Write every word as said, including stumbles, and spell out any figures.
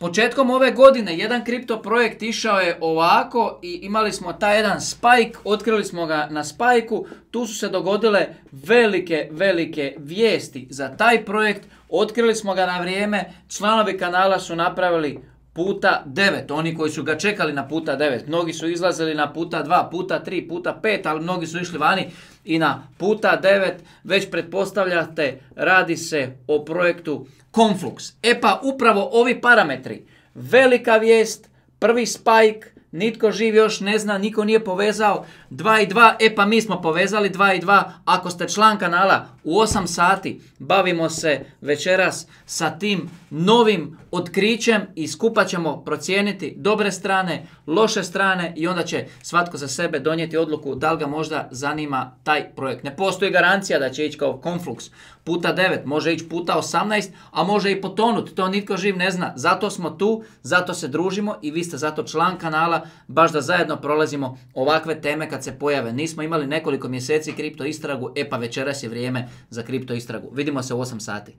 početkom ove godine jedan kripto projekt išao je ovako i imali smo taj jedan spike, otkrili smo ga na spajku, tu su se dogodile velike, velike vijesti za taj projekt, otkrili smo ga na vrijeme, članovi kanala su napravili puta devet, oni koji su ga čekali na puta devet, mnogi su izlazili na puta dva, puta tri, puta pet, ali mnogi su išli vani i na puta devet, već pretpostavljate, radi se o projektu Conflux. E pa upravo ovi parametri, velika vijest, prvi spike, nitko živ još ne zna, niko nije povezao dva i dva, e pa mi smo povezali dva i dva, ako ste član kanala u osam sati, bavimo se večeras sa tim novim otkrićem i skupa ćemo procijeniti dobre strane, loše strane i onda će svatko za sebe donijeti odluku da li ga možda zanima taj projekt. Ne postoji garancija da će ići kao Conflux puta devet, može ići puta osamnaest, a može i potonuti, to nitko živ ne zna. Zato smo tu, zato se družimo i vi ste zato član kanala, baš da zajedno prolazimo ovakve teme kad se pojave. Nismo imali nekoliko mjeseci kripto istragu, e pa večeras je vrijeme za kripto istragu. Vidimo se u osam sati.